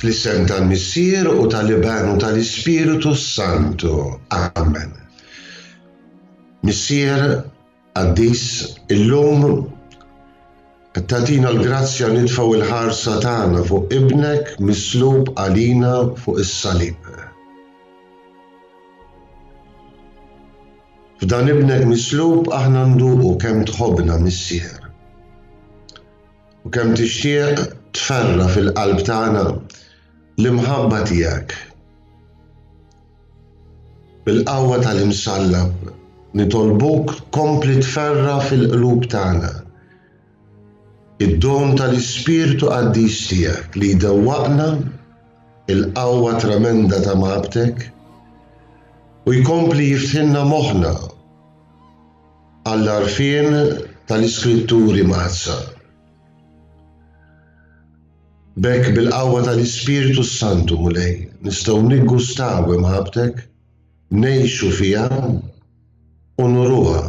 Fl-isem tal-Missier u tal-Iben u tal-Ispirtu s-Santu. Amen. Missier qaddis, illum qed tagħtina l-grazzja nitfgħu l-ħarsa tagħna fuq Ibnek mislub għalina fuq is-salib. F'dan Ibnek mislub aħna nduqu kemm tħobbna, Missier. U kemm tixtieq tferra' fil-qalb tagħna l-imħabba tiegħek. Bil-qawwa tal-Imsallab nitolbuk tkompli tferra' fil-qlub tagħna id-don tal-Ispirtu Qaddis tiegħek li jdewwaqna il-qawwa tremenda ta' mħabbtek u jkompli jiftħilna moħħna għall-għarfien tal-Iskritturi Mqaddsa. B'hekk bil-qawwa tal-Ispirtu s-Santu, Mulej, nistgħu niggustaw imħabbtek, ngħixu fiha u nuruha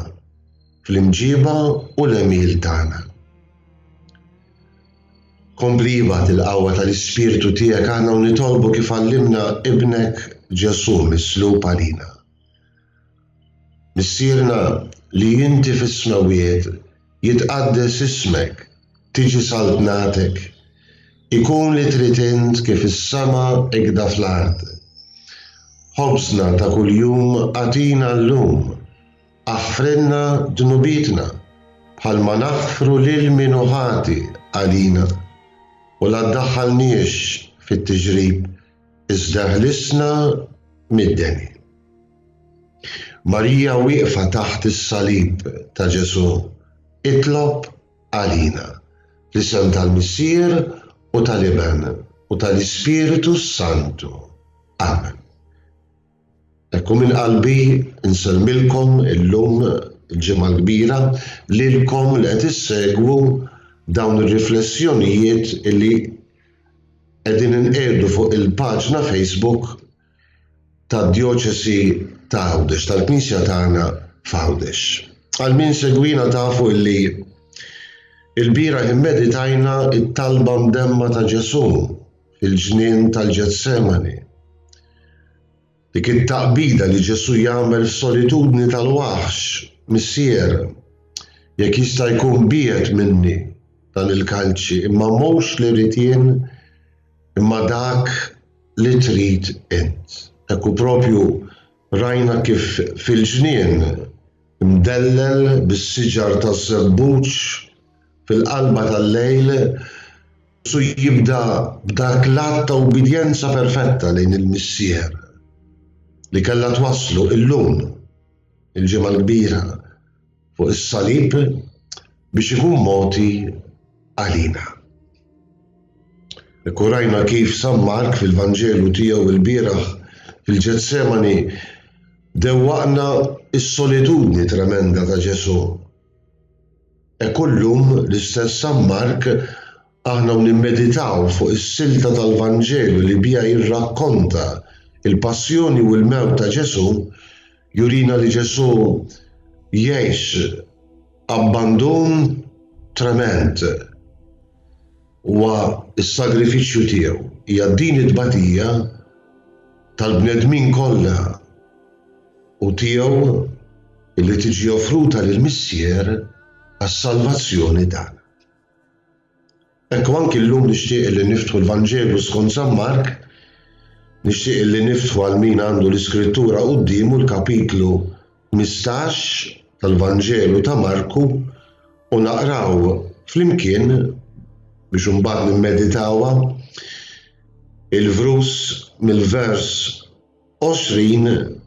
fl-imġiba u l-għemil tagħna. Kompli ibgħat il-qawwa tal-Ispirtu tiegħek aħna u nitolbu kif għallimna Ibnek Ġesù mislub għalina. Missierna li inti fis-smewwiet, jitqaddes ismek, tiġi saltnatek, ikun li trid int kif fis-sema ikda fl-art. Ħobżna ta' kuljum agħtina llum, aħfrilna dnubietna bħalma naħfru lil min hu ħati għalina, u la ddaħħalniex fit-tiġrib, iżda ħlisna mid-deni. Marija wieqfa taħt is-salib ta' Ġesù, itlob għalina. Fl-isem tal-Missier u tal-Iben u tal-Ispirtu s-Santu. Amen. Ekku minn qalbi nsellmilkom illum il-Ġimgħa l-Kbira lilkom li qed issegwu dawn ir-riflessjonijiet li qegħdin inqiegħdu fuq il-paġna Facebook tad-Djoċesi ta' Għawdex, tal-Knisja tagħna f'Għawdex. Għal min segwina tafu illi il-bieraħ immeditajna it-talba mdemma ta' Ġesù fil-ġnien tal-Ġetsemani. Dik it-taqbida li Ġesù jagħmel f'solitudni tal-waħx, Missier, jekk jista' jkun biegħed minni dan il-kalċi, imma mhux li rrid jien, imma dak li trid int. Hekk hu propju rajna kif fil-ġnien mdellel bis-siġar taż-żebbuġ fil-qalba tal-lejl, Ġesù jibda b'dak l-att ta' ubbidjenza perfetta lejn il-Missier li kellha twasslu illum, il-Ġimgħa l-Kbira, fuq is-salib biex ikun mogħti għalina. Hekk u rajna kif San Mark fil-Vanġelu tiegħu lbieraħ fil-Ġetsemani dewwaqna s-solitudni tremenda ta' Ġesù. Hekk u llum l-istess San Mark aħna u nimmeditaw fuq is-silta tal-Vanġelu li biha jirrakkonta l-passjoni u l-mewt ta' Ġesù, jurina li Ġesù jgħix abbandun tremend. Huwa s-sagrifiċċju tiegħu, hija din it-tbatija tal-bnedmin kollha u tiegħu li tiġi offruta lill-Missier għas-salvazzjoni tagħna. Hekk u anki llum nixtieq li niftħu l-Vanġelu skont San Mark, nixtieq li niftħu għal min għandu l-Iskrittura quddiemu l-kapitlu 15 tal-Vanġelu ta' Marku u naqraw flimkien biex imbagħad nimmeditawha il-vrus mill-vers 20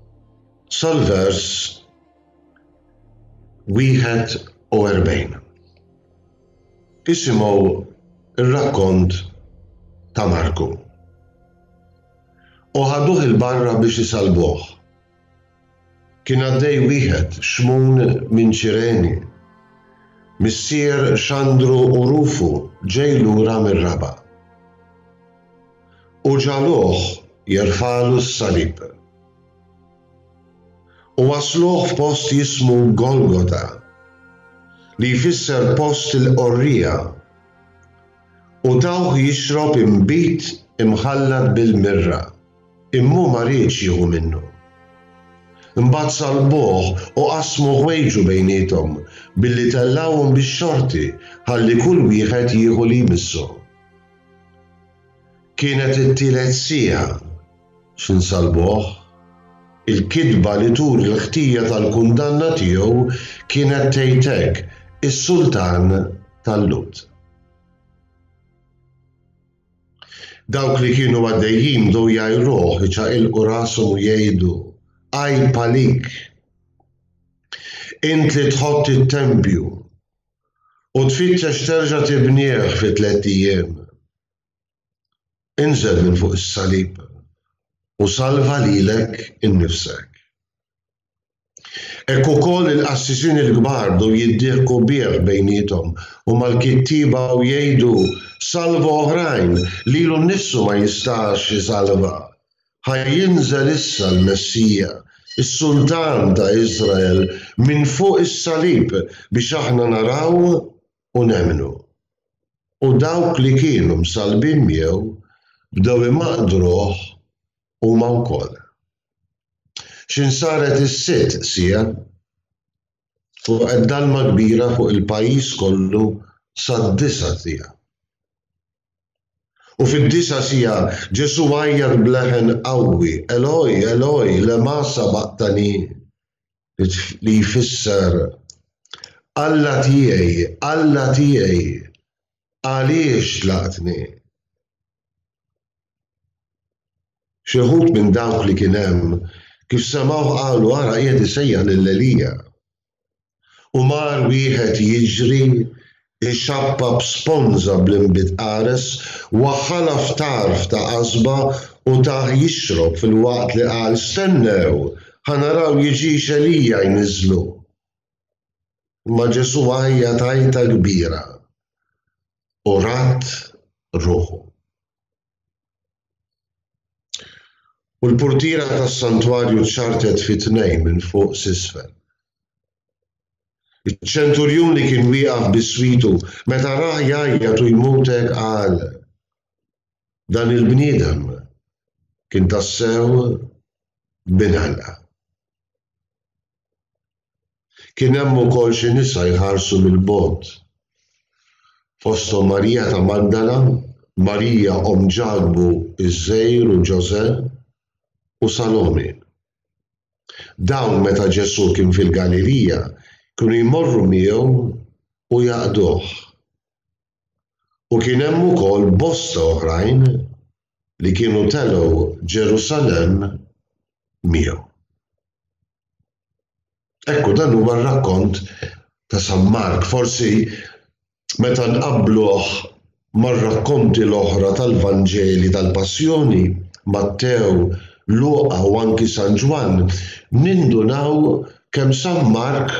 sal-vers 41. Isimgħu r-rakkont ta' Marku. U ħaduh 'il barra biex isallbuh. Kien għaddej wieħed, Xmun minn Ċireni, missier Xandru u Rufu ġej lura mir-raba'. U ġagħluh jerfagħlu s-salib. U wassluh f'post jismu Golgota, li jfisser post il-qorriegħa, u tawh jixrob inbid imħallat bil-mirra, imma hu ma riedx jieħu minnu. Imbagħad sallbuh u qasmu ħwejġu bejniethom billi tellgħuhom bix-xorti ħalli kull wieħed jieħu li jmissu. Kienet it-tielet siegħa x'insalbuh. Il-kitba li turi l-ħtija tal-kundanna tiegħu kienet tgħid hekk, Is-Sultan tal-Lhud. Dawk li kienu għaddejjin bdew jgħajruh, iċaqilqu rashom u jgħidu, Għajb għalik! Int li tħott it-tempju u tfittex terġa' tibnieh fi tlett ijiem. Inżel minn fuq is-salib u salva lilek innifsek. Hekk ukoll il-qassisin il-kbar bdew jiddieħku bih bejniethom u mal-kittieba u jgħidu, Salva oħrajn, lilu nnifsu ma jistax isalva. Ħa jinżel issa l-Messija, is-Sultan ta' Iżrael, minn fuq is-salib biex aħna naraw u nemmnu. U dawk li kienu msallbin miegħu bdew imaqdruh huma wkoll. X'in saret is-sitt siegħa, waqgħet dalma kbira fuq il-pajjiż kollu sad-disa' siegħa. U fid-disa' siegħa Ġesù għajjat b'leħen qawwi, Eloi, Eloi, lema sabaqtani? li jfisser, Alla tiegħi, Alla tiegħi, għaliex tlaqtni? Xi wħud minn dawk li kien hemm, kif semgħuh qalu, Ara, qiegħed isejjaħ lil Elija. U mar wieħed jiġri, ixappap sponża bl-inbid qares, waħħalha f'tarf ta' qasba u tah jixrob filwaqt li qal, Stennew, ħa naraw jiġix Elija jniżżlu. Imma Ġesù għajjat għajta kbira u radd ruħu. U l-purtiera tas-santwarju ċċartet fi tnejn minn fuq s'isfel. Iċ-ċenturjun li kien wieqaf biswitu, meta rah jgħajjat u jmut hekk qal, Dan il-bniedem kien tassew Bin Alla. Kien hemm ukoll xi nisa jħarsu mill-bogħod, fosthom Marija ta' Magdala, Marija omm Ġakbu ż-Żgħir u Ġożè, u Salomi. Dawn meta Ġesù kien fil-Galilija kienu jmorru miegħu u jaqduh. U kien hemm ukoll bosta oħrajn li kienu telgħu Ġerusalemm miegħu. Ekku, dan huwa r-rakkont ta' San Mark. Forsi meta nqabbluh mar-rakkonti l-oħra tal-Vanġeli tal-Passjoni, Mattew, Luqa u anki San Ġwann, nindunaw kemm San Mark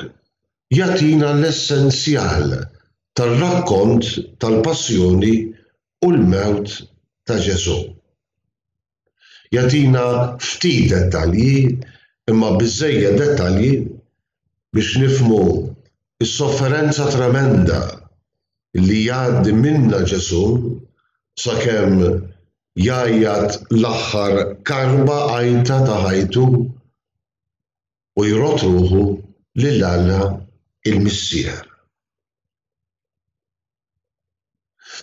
jagħtina l-essenzjal tar-rakkont tal-Passjoni u l-mewt ta' Ġesù. Jagħtina ftit dettalji, imma biżżejjed dettalji biex nifhmu s-sofferenza tremenda li jgħaddi minnha Ġesù sakemm jgħajjat l-aħħar karba għajta ta' ħajtu u jrodd ruħu lil Alla il-Missier.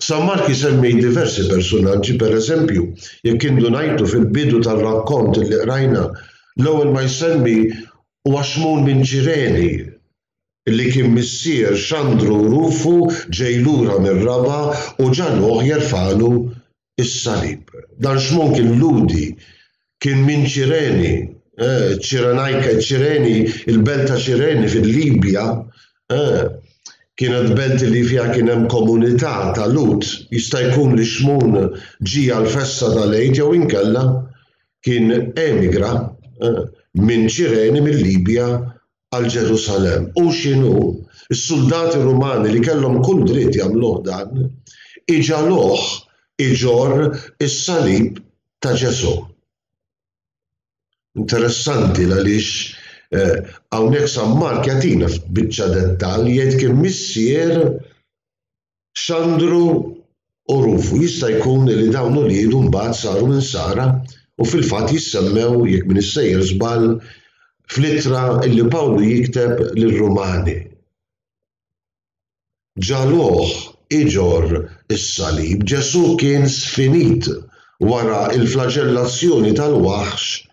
San Mark isemmi diversi persunaġġi, pereżempju, jekk indunajtu fil-bidu tar-rakkont li qrajna, l-ewwel ma jsemmi huwa Xmun minn Ċireni, li kien missier Xandru u Rufu ġej lura mir-raba' u ġagħluh jerfagħlu is-salib. Dan Xmun kien Lhudi, kien minn Ċireni, eh, Ċirenajka, Ċireni, il-belt ta' Ċireni fil-Libja, eh, kienet belt li fiha kien hemm komunità ta' Lhud. Jista' jkun li Xmun ġie għall-festa tal-Għid jew inkella kien emigra eh, minn Ċireni mill-Libja għal Ġerusalemm. Hu x'inhu, is-suldati Rumani li kellhom kull dritt jagħmluh dan, iġagħluh iġorr is-salib ta' Ġesù. Interessanti l-għaliex hawnhekk San Mark jagħtina biċċa dettall jgħid kien missier Xandru. u Rufu. Jista' jkun li dawn uliedu mbagħad saru Insara u fil-fatt jissemmew, jekk m'iniex sejjer żball, fl-ittra li Pawlu jikteb lir-Rumani. Ġagħluh iġorr is-salib. Ġesù kien sfinit wara l-flaġellazzjoni tal-waħx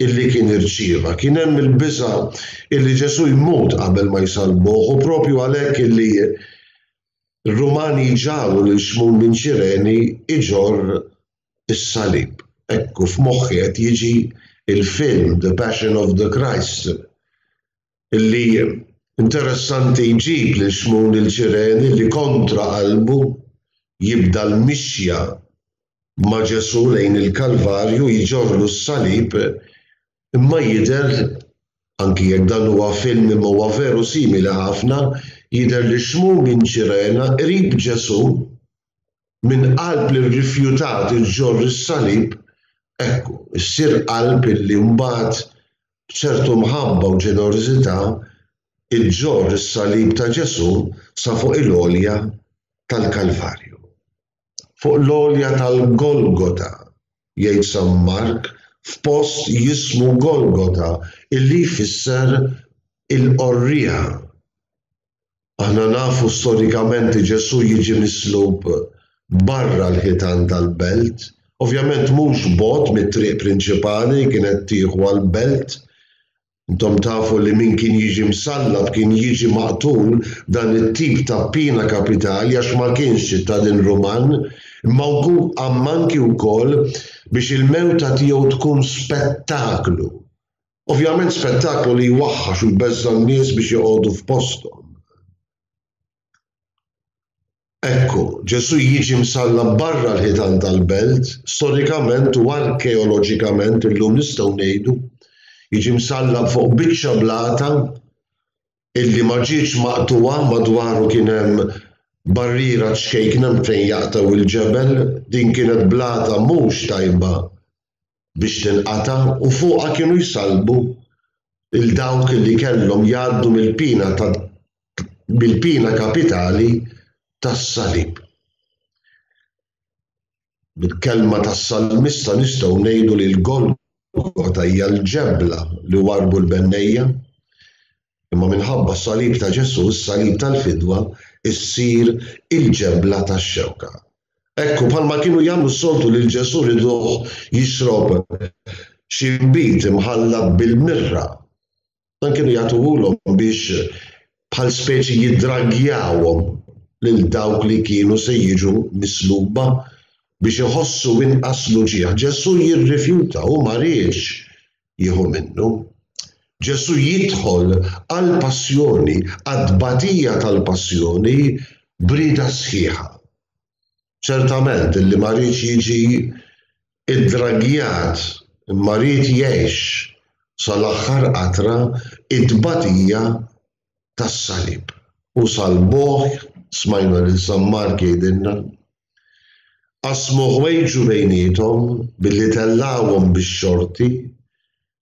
illi kien irċieva. Kien hemm il-biża' illi Ġesù jmut qabel ma jsallbuh u proprju għalhekk illi r-Rumani jġagħlu lil Xmun minn Ċireni iġorr is-salib. Ekku f'moħħi qed jiġi l-film The Passion of the Christ illi interessanti jġib lil Xmun il-Ċireni li kontra qalbu jibda l-mixja ma' Ġesù lejn il-Kalvarju jġorrlu s-salib imma jidher, anki jekk dan huwa film imma huwa veru simili ħafna, jidher li Xmun minn Ċirena qrib Ġesù, minn qalb li rrifjutat iġġorr is-salib, ekku, issir qalb illi mbagħad b'ċertu mħabba u ġenerożità iġġorr is-salib ta' Ġesù sa fuq il-għolja tal-Kalvarju. Fuq l-għolja tal-Golgota, jgħid San Mark, f'post jismu Golgota, illi jfisser il-qorriegħa. Aħna nafu storikament li Ġesù jiġi mislub barra l-ħitan tal-belt, ovvjament mhux bogħod mit-triq prinċipali li kienet tieħu għall-belt, Intom tafu li min kien jiġi msallab kien jiġi maqtul b'dan it-tip ta' piena kapitali għax ma kienx ċittadin Ruman, imma anki wkoll biex il-mewta tiegħu tkun spettaklu. Ovvjament spettaklu li jwaħħax u jbeżża' n-nies biex joqogħdu f'posthom. Ekku, Ġesù jiġi msallab barra l-ħitan tal-belt, storikament u arkeoloġikament illum nistgħu ngħidu, jiġi msallab fuq biċċa blata illi ma ġietx maqtugħa, madwaru kien hemm barriera ċkejkna fejn jaqtgħu il-ġebel, din kienet blata mhux tajba biex tinqata' u fuqha kienu jsallbu lil dawk li kellhom jgħaddu mill-piena ta' mill-piena kapitali tas-salib. Bil-kelma tas-salmista nistgħu ngħidu li l-Golgota hija l-ġebla li warrbu l-bennejja, imma minħabba s-salib ta' Ġesù, is-salib tal-fidwa, issir il-ġebla tax-xewka. Ekku, bħalma kienu jagħmlu s-soltu lil Ġesù riduh jixrob xi nbid imħallat bil-mirra. Dan kienu jagħtuhulhom biex bħal speċi jiddraggjawhom lil dawk li kienu se jiġu misluba biex iħossu inqas l-uġigħ. Ġesù jirrifjuta, hu ma riedx jieħu minnu. Ġesù jidħol għall-passjoni, għat-tbatija tal-passjoni b'rieda sħiħa. Ċertament illi ma riedx jiġi iddraggjat imma ried jgħix sal-aħħar qatra t-tbatija tas-salib. U salbuh, smajna lil San Mark jgħidilna, qasmu ħwejġu bejniethom billi tellgħuhom bix-xorti,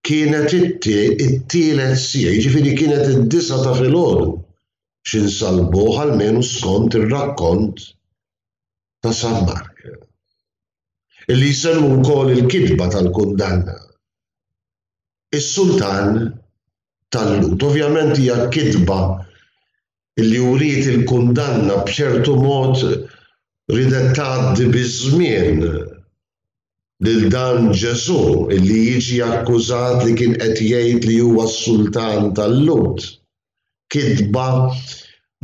kienet it-tielet siegħa, jiġifieri kienet id-disgħa ta' filgħodu x'insalbuh almenu skont ir-rakkont ta' San Mark. Illi jsemmu wkoll il-kitba tal-kundanna. Is-sultan tal-Lhud. Ovvjament hija kitba illi wriet il-kundanna b'ċertu mod ridet tgħaddi biż-żmien lil dan Ġesù illi jiġi akkużat li kien qed jgħid li huwa s-sultan tal-Lhud. Kitba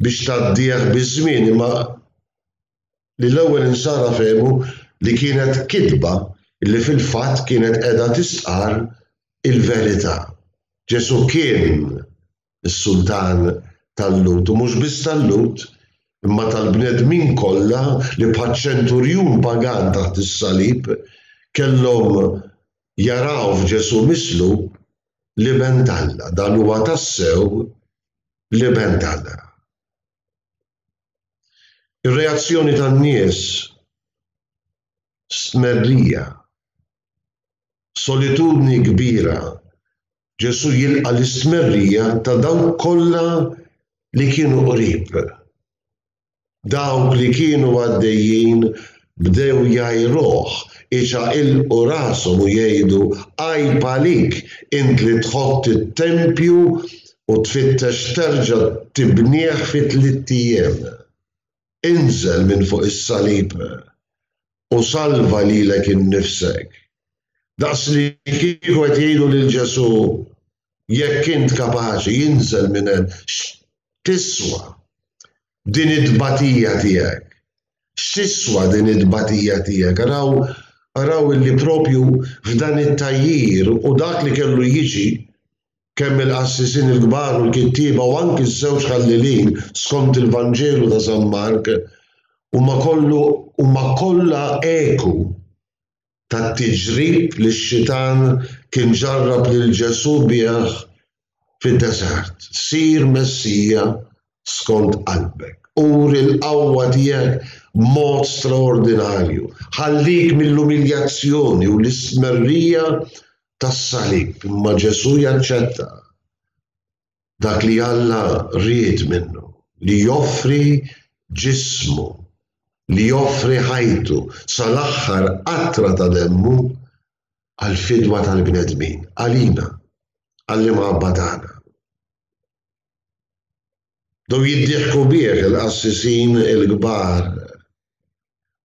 biex tgħaddih biż-żmien imma li l-ewwel insara fehmu li kienet kitba li fil-fatt kienet qiegħda tistqarr il-verità. Ġesù kien is-sultan tal-Lhud u mhux biss tal-Lhud imma tal-bnedmin kollha li bħaċ-ċenturjun pagan taħt is-salib kellhom jaraw f'Ġesù mislub l-Iben t'Alla. Dan huwa tassew l-Iben t'Alla. Ir-reazzjoni tan-nies stmerrija, solitudni kbira Ġesù jilqa' l-istmerrija ta' dawk kollha li kienu qrib. Dawk li kienu għaddejjin bdew jgħajruh, iċaqilqu rashom u jgħidu, Għajb għalik, int li tħott it-tempju u tfittex terġa' tibnih fi tlitt ijiem. Inżel minn fuq is-salib u salva lilek innifsek. Daqs li kieku qed jgħidu lil Ġesù, Jekk int kapaċi, inżel minn hemm. X'tiswa din it-tbatija tiegħek? X'tiswa din it-tbatija tiegħek? Araw, araw illi propju f'dan it-tgħajjir u dak li kellu jiġi, kemm il-qassisin il-kbar u l-kittieba u anki ż-żewġ ħallelin skont il-Vanġelu ta' San Mark, huma kollu huma kollha eku tat-tiġrib li x-xitan kien ġarrab lil Ġesù bih fid-deżert. Sir Messija skont qalbek. Uri l-qawwa tiegħek b'mod straordinarju. Ħallik mill-umiljazzjoni u l-istmerrija tas-salib. Imma Ġesù jaċċetta dak li Alla ried minnu, li joffri ġismu, li joffri ħajtu sal-aħħar qatra ta' demmu għall-fidwa tal-bnedmin, għalina, għall-imħabba tagħna. Bdew jiddieħku bih il-qassisin il-kbar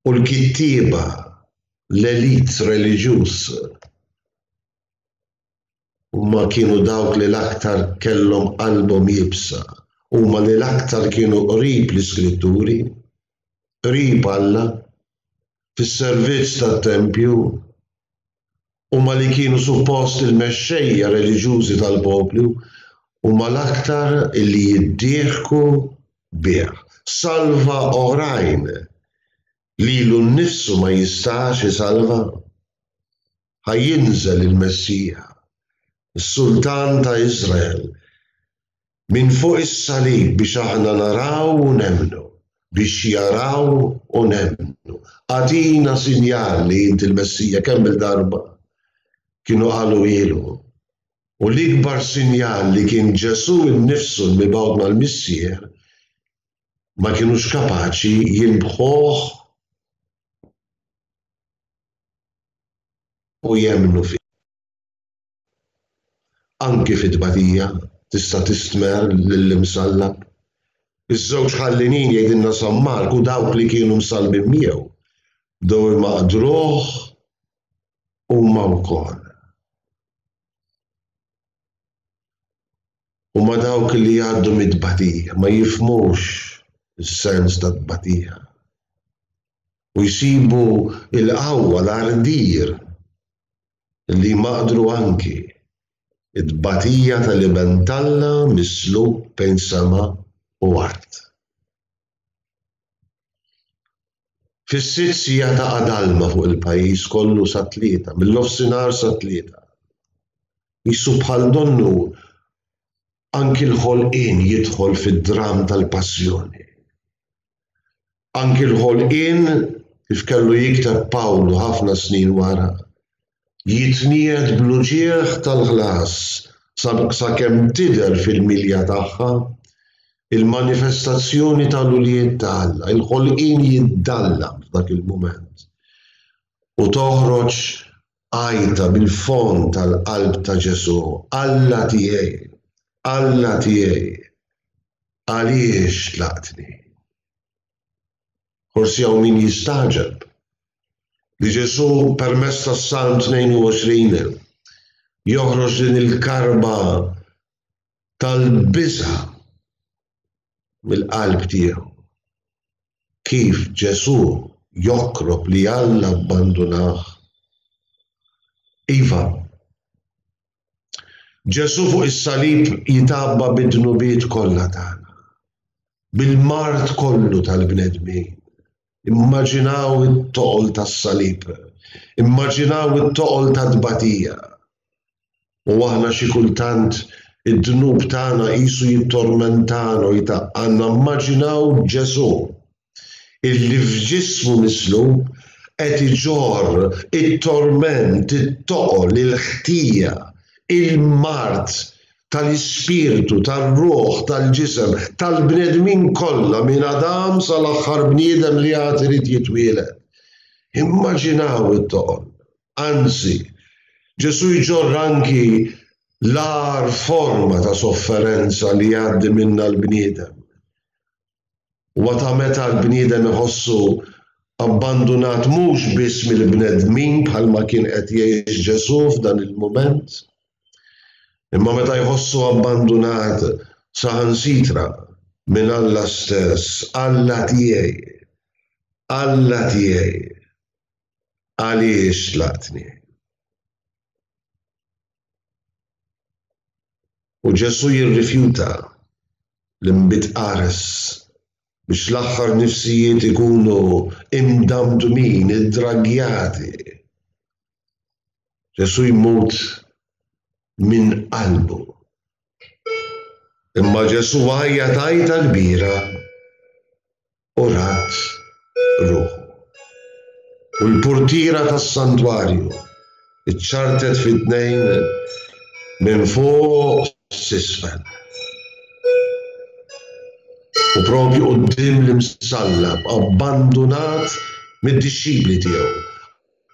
u l-kittieba, l-elit reliġjuż. Huma kienu dawk li l-aktar kellhom qalbhom iebsa, huma li l-aktar kienu qrib l-Iskritturi, qrib Alla, fis-servizz tat-tempju. Huma li kienu suppost il-mexxejja reliġjużi tal-poplu, huma l-aktar li jiddieħku bih. Salva oħrajn, lilu nnifsu ma jistax isalva. Ħa jinżel il-Messija, is-Sultan ta' Iżrael, minn fuq is-salib biex aħna naraw u nemmnu, biex jaraw u nemmnu. Agħtina sinjal li int il-Messija kemm-il darba kienu qaluhielu. U l-ikbar sinjal li kien Ġesù nnifsu l-mibgħut mal-Missier ma kinux kapaċi jilmħuh u jemmnu fih. Anki fit-tbatija tista' tistmerr lill-Imsallab. Iż-żewġ ħallinin jgħidilna San Mark u dawk li kienu msallbin miegħu bdew imaqdruh huma wkoll. Huma dawk li jgħaddu mit-tbatija, ma jifhmux is-sens tat-tbatija. U jsibu l-qawwa, l-ardir li jmaqdru anki t-tbatija tal-Iben t'Alla mislub bejn sema u art. Fis-sitt siegħa taqa' dalma fuq il-pajjiż kollu sat-tlieta, mill-nofsinhar sat-tlieta. Qisu bħal donnu anki l-ħolqien jidħol fid-dramm tal-passjoni. Anki l-ħolqien, kif kellu jikteb Pawlu ħafna snin wara, jitniegħed bl-uġigħ tal-ħlas sakemm tidher fil-milja tagħha il-manifestazzjoni tal-ulied ta' Alla. Il-ħolqien jiddallam f'dak il-mument u toħroġ għajta mill-fond tal-qalb ta' Ġesù, Alla tiegħi, Alla tiegħi, Għaliex tlaqtni? Forsi hawn min jistagħġeb li Ġesù permezz tas-Salm 22 joħroġ din il-karba tal-biża' mill-qalb tiegħu. Kif Ġesù jokrob li Alla abbandunah? Iva, Ġesù fuq is-salib jitgħabba bid-dnubiet kollha tagħna, bil-mard kollu tal-bnedmin. Immaġinaw it-toqol tas-salib, immaġinaw it-toqol tat-tbatija. U aħna xi kultant id-dnub tagħna qisu jittormentana u jtaqqalna, immaġinaw Ġesù illi f'ġismu mislub qed iġorr it-torment, it-toqol, il-ħtija, il-mard. tal-ispirtu, tar-ruħ, tal-ġisem, tal-bnedmin kollha minn Adam sal-aħħar bniedem li għad irid jitwieled. Immaġinaw it-toqol. Anzi, Ġesù jġorr anki l-agħar forma ta' sofferenza li jgħaddi minnha l-bniedem. Huwa ta' meta l-bniedem iħossu abbandunat mhux biss mill-bnedmin bħalma kien qed jgħix Ġesù f'dan il-mument, imma meta jħossu abbandunat saħansitra minn Alla stess, Alla tiegħi, Alla tiegħi, għaliex tlaqtni? U Ġesù jirrifjuta l-inbid qares biex l-aħħar nifsijiet ikunu imdamdmin, iddraggjati. Ġesù jmut minn qalbu. Imma Ġesù għajjat għajta kbira u radd ruħu. U l-purtiera tas-santwarju ċċartet fi tnejn minn fuq s'isfel. U propju quddiem l-imsallab abbandunat mid-dixxipli tiegħu,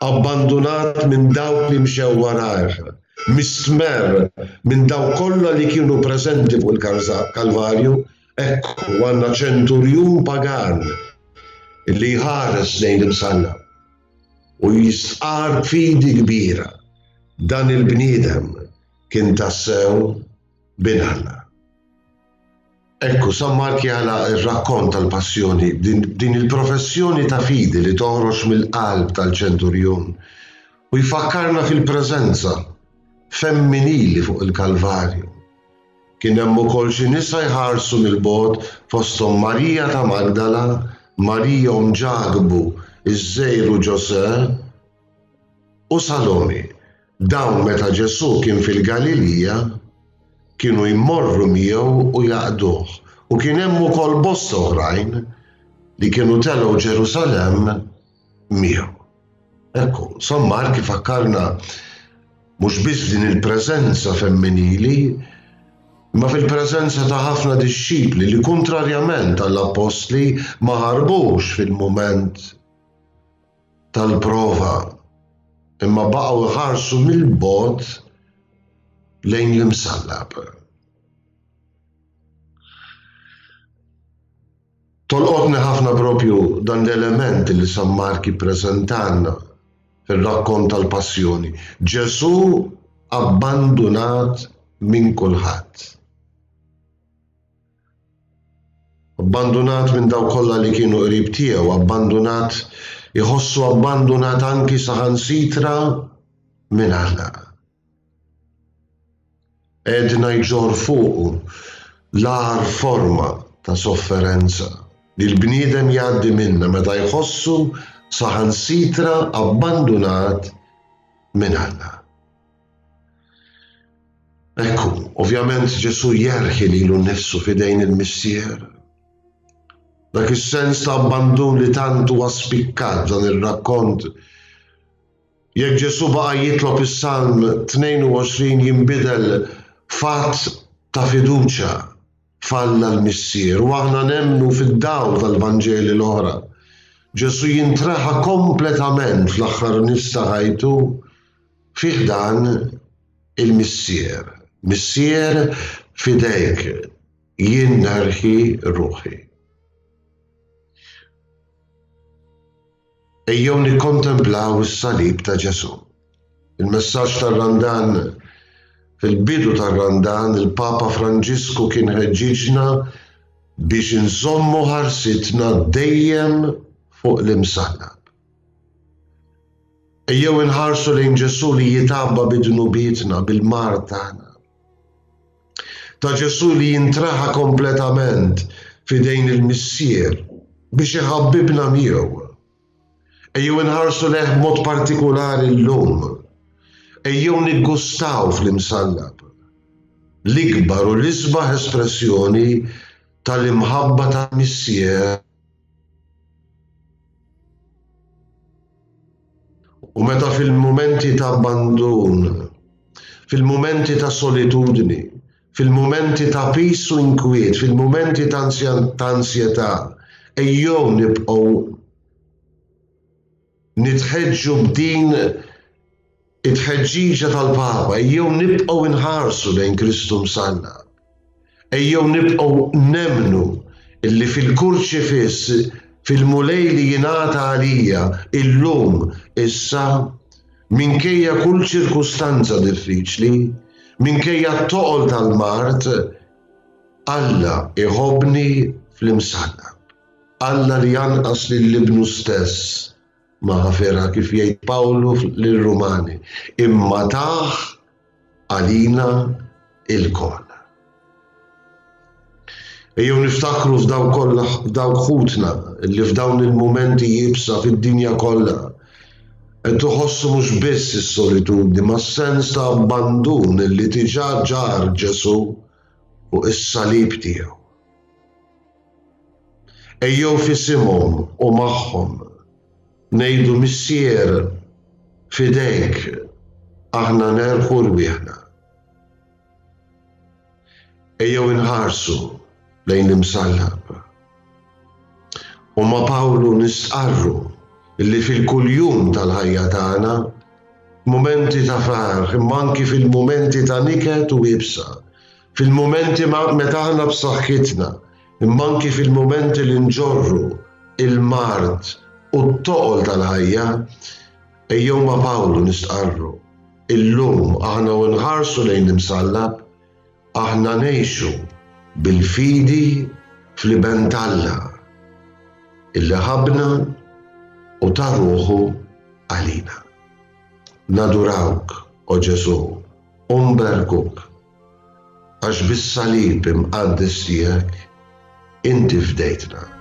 abbandunat minn dawk li mxew warajh, mistmerr minn dawk kollha li kienu preżenti fuq il-Kalvarju, ekku għandna ċenturjun pagan li jħares lejn l-imsallab u jistqarr b'fidi kbira, dan il-bniedem kien tassew Bin Alla. Ekku, San Mark jagħlaq ir-rakkont tal-Passjoni b'din il-professjoni ta' fidi li toħroġ mill-qalb tal-ċenturjun u jfakkarna fil-preżenza femminili fuq il-Kalvarju. Kien hemm ukoll xi nisa jħarsu mill-bogħod fosthom Marija ta' Magdala, Marija omm Ġakbu, iż-żgħir u Ġosè, u Salomi. Dawn meta Ġesù kien fil-Galilija, kienu jmorru miegħu u jaqduh, u kien hemm ukoll bosta oħrajn li kienu telgħu Ġerusalemm miegħu. Ekku, San Mark ifakkarna mhux biss f'din il-preżenza femminili, imma fil-preżenza ta' ħafna dixxipli li kuntrarjament għall-appostli ma ħarbux fil-mument tal-prova imma baqgħu jħarsu mill-bogħod lejn l-imsallab. Tolqotni ħafna propju dan l-element li San Mark jippreżentalna fir-rakkont tal-Passjoni. Ġesù abbandunat minn kulħadd. Abbandunat minn dawk kollha li kienu qrib tiegħu, abbandunat, iħossu abbandunat anki saħansitra minn Alla. Għedna jġorr fuqu l-agħar forma ta' sofferenza li l-bniedem jgħaddi minnha meta jħossu saħansitra abbandunat minn Alla. Ekku, ovvjament Ġesù jerħi lilu nnifsu f'idejn il-Missier. Dak is-sens ta' abbandun li tant huwa spikkat f'dan ir-rakkont. Jekk Ġesù baqa' jitlob is-Salm 22 jinbidel f'att ta' fiduċja f'Alla l-Missier u aħna nemmnu fid-dawl tal-Vanġeli l-oħra. Ġesù jintreħa kompletament fl-aħħar nifs ta' ħajtu Fi ħdan il-Missier. Missier, f'idejk jien nerħi ruħi. Ejjew nikkontemplaw is-salib ta' Ġesù. Il-messaġġ tar-Randan Fil-bidu tar-Randan, il-Papa Franġisku kien ħeġġiġna biex inżommu ħarsitna dejjem fuq l-imsallab. Ejjew inħarsu lejn Ġesù li jitgħabba bi dnubietna, bil-mard tagħna. Ta' Ġesù li jintraħa kompletament f'idejn il-Missier biex iħabbibna miegħu. Ejjew inħarsu lejh b'mod partikulari llum. Ejjew niggustaw fl-imsallab l-ikbar u l-isbaħ espressjoni tal-imħabba tal-Missier U meta fil-mumenti ta' abbandun, fil-mumenti ta' solitudni, Fil-mumenti ta' piż u inkwiet, fil-mumenti ta' ansjetà, ejjew nibqgħu nitħeġġu b'din it-tħeġġiġa tal-Papa, ejjew nibqgħu nħarsu lejn Kristu msallab. Ejjew nibqgħu nemmnu illi fil-Kurċifiss, fil-Mulej li jingħata għalija illum, issa, minkejja kull ċirkustanza diffiċli, minkejja t-toqol tal-mard, Alla iħobbni fl-imsallab. Alla li anqas lil Ibnu stess ma ħafirha kif jgħid Pawlu lir-Rumani, imma tah għalina ilkoll. Ejjew niftakru f'dawk kollha f'dawk ħutna li f'dawn il-mumenti iebsa fid-dinja kollha qed iħossu mhux biss is-solitudni ma s-sens ta' abbandun li diġà ġarr Ġesù fuq is-salib tiegħu. Ejjew f'isimhom u magħhom ngħidu Missier f'idejk aħna nerħu rwieħna. Ejjew inħarsu lejn l-imsallab. U ma' Pawlu nistqarru li fil-kuljum tal-ħajja tagħna, mumenti ta' ferħ imma anki fil-mumenti ta' niket u iebsa, fil-mumenti meta aħna b'saħħitna, imma anki fil-mumenti li nġorru il-mard u t-toqol tal-ħajja, ejjew ma' Pawlu nistqarru, illum aħna u nħarsu lejn l-imsallab, aħna ngħixu bil-fidi fl-Iben t'Alla, illi ħabbna u ta ruħu għalina. Nadurawk, o Ġesù, u nberkuk, għax bis-salib imqaddes tiegħek inti fdejtna.